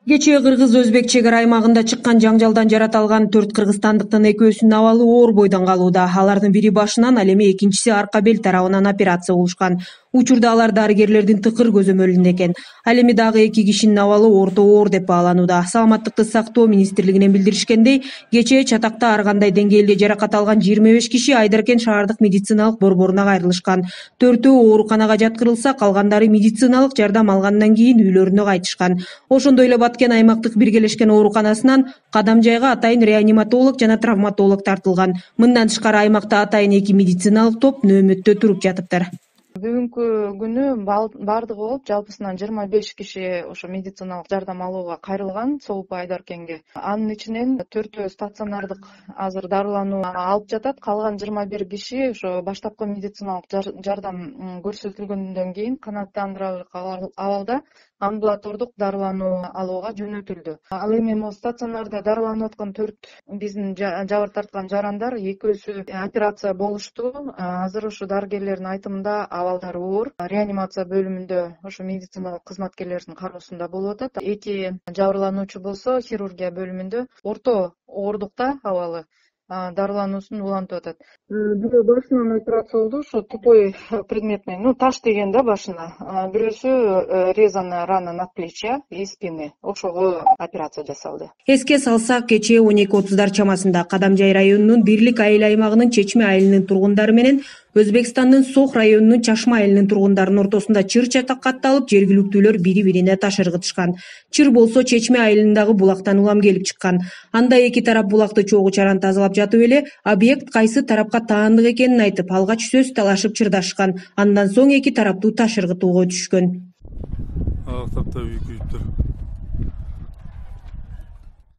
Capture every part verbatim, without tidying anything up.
Кечээ кыргыз-өзбек чек ара аймагында чыккан жаңжалдан жарата алган төрт кыргызстандыктын экөөсүнүн абалы оор бойдон калууда. Алардын бири башынан, ал эми экинчиси арка бел тарабынан операция болушкан. Учурда алар дарыгерлердин тыкыр көзөмөлүндө экен. Ал эми дагы эки кишинин абалы орто оор деп бааланууда. Саламаттыкты сактоо министрлигинен билдиришкендей, кечээ чатакта ар кандай деңгээлде жаракат алган жыйырма беш киши Айдаркен шаардык медициналык борборуна кайрылышкан. Төртөө ооруканага жаткырылса, калгандары медициналык жардам алгандан кийин үйлөрүнө кайтышкан. Ошондой эле Баткен аймактык биргелешкен ооруканасынан Кадамжайга атайын реаниматолог жана травматолог тартылган. Мындан тышкары аймакта атайын эки медициналык топ нөөмөттө туруп жатыптыр. Бүгүнкү күнү бардыгы болуп жалпысынан жыйырма беш киши ошо медициналык жардам алууга кайрылган Соопа Айдаркенге. Анын ичинен төртөө стационардык азыр дарылануу алып жатат. Калган жыйырма бир киши ошо баштапкы медициналык жардам көрсөтүлгөндөн кийин канааттандырарлык абалда амбулатордук дарылануу алууга жөнөтүлдү. Ал эми могу стационарда дарыланып аткан төрт биздин жабыр тарткан жарандар экөөсү операция болушту. Азыр ошо дарыгерлердин айтымында абалдары оор. Реанимация бөлүмүндө ошо медициналык кызматкерлердин кароосунда болуп атат. Эки жабырлануучу болсо хирургия бөлүмүндө орто оордукта абалы дарылануусун улантып атат. Бирөө башынан операция болду, ошо тупой предметный, ну таш деген да башына. Бирөөсү резаная рана надплечья и спины. Ошого операция жасалды. Эске салсак, кечээ он эки отуздар чамасында Кадамжай районунун Бирлик айыл аймагынын Чечме айылынын тургундары менен Өзбекстандын Сох районунун Чашма айылынын тургундарынын ортосунда чыр чатакатталып, жергиликтүүлөр бири-бирине таш ыргытышкан. Чыр болсо Чечме айылындагы булактан улам келип чыккан. Анда эки тарап булакты чогуу чаран тазалап жатып эле объект кайсы тарапка таандык экенин айтып, алгач сөз талашып чырдашкан. Андан соң эки тараптуу таш ыргытууга түшкөн.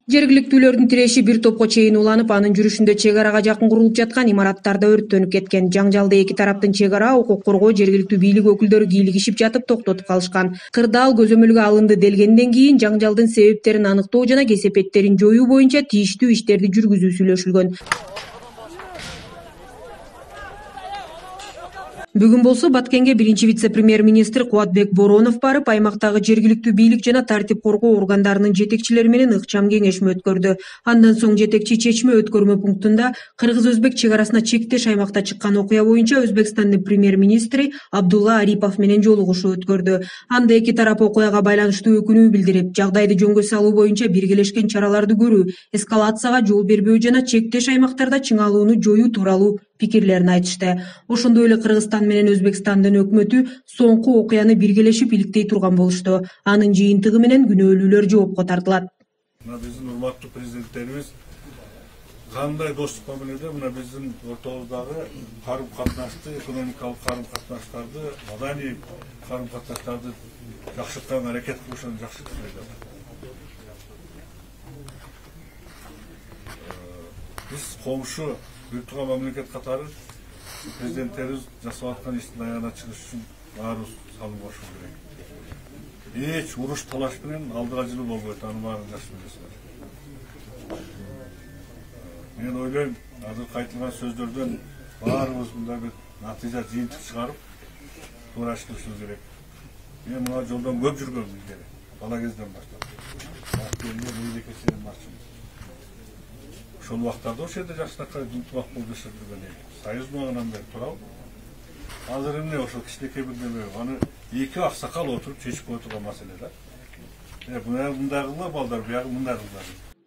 Жергиликтүүлөрдүн тиреши бир топко чейин уланып, анын жүрүшүндө чек арага жакын курулуп жаткан имараттарда өрттөнүп кеткен. Жаңжалды эки тараптын чек ара, укук коргоо, жергиликтүү бийлик өкүлдөрү кийлигишип жатып токтотуп калышкан. Кырдаал көзөмөлгө алынды делгенден кийин жаңжалдын себептерин аныктоо жана кесепеттерин жоюу боюнча тийиштүү иштерди жүргүзүү сүйлөшүлгөн. Бүгүн болсо Баткенге биринчи вице-премьер-министр Кубатбек Боронов барып, аймактагы жергиликтүү бийлик жана тартип коргоо органдарынын жетекчилери менен ыкчам кеңешме өткөрдү. Андан соң жетекчи чечме өткөрмө пунктунда кыргыз-өзбек чек арасына чектеш аймакта чыккан окуя боюнча Өзбекстандын премьер-министри Абдулла Арипов менен жолугушуу өткөрдү. Анда эки тарап окуяга байланыштуу өкүнүү билдирип, жагдайды жөнгө салуу боюнча биргелешкен чараларды көрүү, эскалацияга жол бербөө жана чектеш аймактарда чыңалууну жоюу тууралуу пикирлерин айтышты. Ошондой эле Кыргызстан менен Өзбекстандын өкмөтү соңку окуяны биргелешип иликтей турган болушту. Анын жыйынтыгы менен күнөөлүүлөр жоопко тартылат. Мына биздин урматтуу президенттерибиз кандай достук мамиледе мына биздин ортобуздагы карым-катнашты, экономикалык карым-катнаштарды, маданий карым-катнаштарды жакшыртканга аракет кылышын жакшы билет. Биз комшу бир тууган мамлекет катары президенттерибиз жасап аткан иштин аягына чыгыш үчүн баарыбыз салым кошуш керек. Эч уруш талаш менен алдыга жылуу болбойт, аны баарын жакшы билесиздер. Мен ойлойм, азыр айтылган сөздөрдөн баарыбыз мындай бир натыйжа жыйынтык чыгарып, туура иш кылышыбыз керек. Мен мына жолдон көп жүргөм илгери, бала кезден баштап. Актерге мейлекесинен башчымын. Ошол убактарда ошол жерде жакшынакай ынтымак болуп жашап жүргөн эл. Союз маалынан бери турабы. Азыр эмне ошол кичинекей бир неме, аны эки аксакал отуруп чечип кое турган маселе да. Э, мындай кылгыла балдар, биягы мындай кылгыла.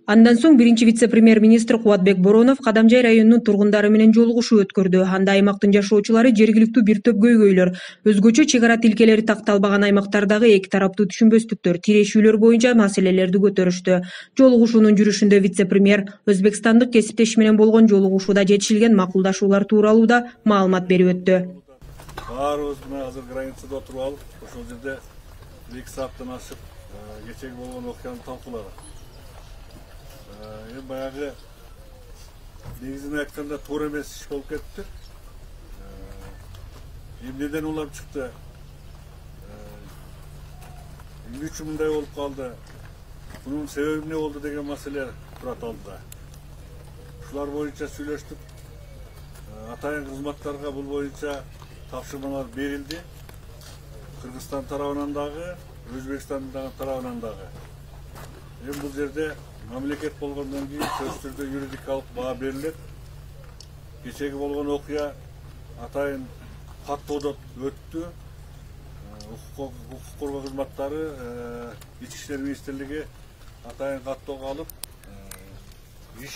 Андан соң биринчи вице-премьер-министр Кубатбек Боронов Кадамжай районунун тургундары менен жолугушуу өткөрдү. Анда аймактын жашоочулары жергиликтүү бир топ көйгөйлөр, өзгөчө чек ара тилкелери такталбаган аймактардагы эки тараптуу түшүнбөстүктөр, тирешүүлөр боюнча маселелерди көтөрүштү. Жолугушуунун жүрүшүндө вице-премьер Өзбекстандык кесиптеши менен болгон жолугушууда жетишилген макулдашуулар тууралуу да маалымат берип өттү. Баарыбыз мына азыр границада отуруп алып, ошол жерде эки сааттан ашык кечеги болгон окуяны талкууладык. Эми баягы негизин айтканда туура эмес иш болуп кетти. Эмнеден улам чыкты? Эмне үчүн мындай болуп калды? Бунун себеби эмне болду деген маселе турат алдыда. Ушулар боюнча сүйлөштүк. Атайын кызматтарга бул боюнча тапшырмалар берилди. Кыргызстан тарабынан дагы, Өзбекстандын тарабынан дагы. Эми бул жерде мамлекет болгондон кийин сөзсүз түрдө юридикалык баа берилет. Кечеги болгон окуя атайын каттоодон өттү. Укук коргоо кызматтары Ички иштер министрлиги атайын каттоого алып иш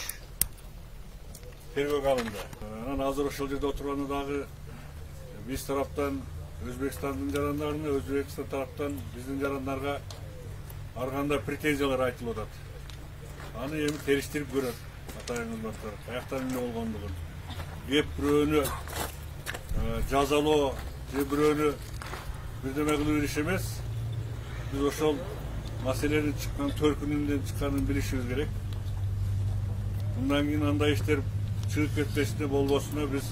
тергөөгө алынды. Анан азыр ошол жерде отурганда дагы биз тараптан Өзбекстандын жарандарына, Өзбекстан тараптан биздин жарандарга ар кандай претензиялар айтылып атат. Аны эми териштирип көрөт атайын кызматтар. Каяктан эмне болгондугун. Кеп бирөөнү жазалоо же бирөөнү бирдеме кылуу иш эмес. Биз ошол маселенин чыккан төркүнүндөн чыкканын билишибиз керек. Мындан кийин андай иштер чыгып кетпесине, болбосуна биз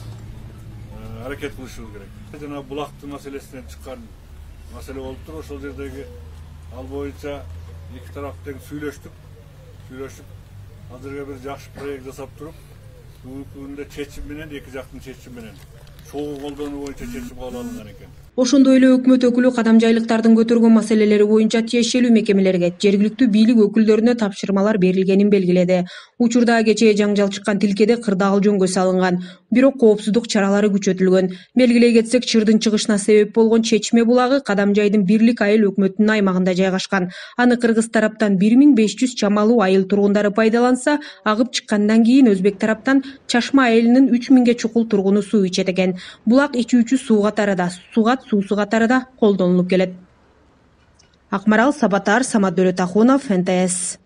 аракет кылышыбыз керек. Жана булактын маселесинен чыккан маселе болуптур. Ошол жердеги ал боюнча эки тарап тең сүйлөштүк. Сүйлөшүп, азыркы бир жакшы проект жасап туруп, бүгүнкү күндө чечим менен, эки жактын чечими менен чогуу колдонуу боюнча чечим кабыл алынган экен. Ошондой эле өкмөт өкүлү кадамжайлыктардын көтөргөн маселелери боюнча тиешелүү мекемелерге, жергиликтүү бийлик өкүлдөрүнө тапшырмалар берилгенин белгиледи. Учурда кечээ жаңжал чыккан тилкеде кырдаал жөнгө салынган, бирок коопсуздук чаралары күчөтүлгөн. Белгилей кетсек, чырдын чыгышына себеп болгон Чечме булагы Кадамжайдын Бирлик айыл өкмөтүнүн аймагында жайгашкан. Аны кыргыз тараптан бир миң беш жүз чамалуу айыл тургундары пайдаланса, агып чыккандан кийин өзбек тараптан Чашма айылынын үч миңге чукул тургуну суу ичет экен. Булак ичүүчү суу катарында, сугат суусу катарында колдонулуп келет. Акмарал Сабатар, Самат Дөөлөтахунов, эн тэ эс.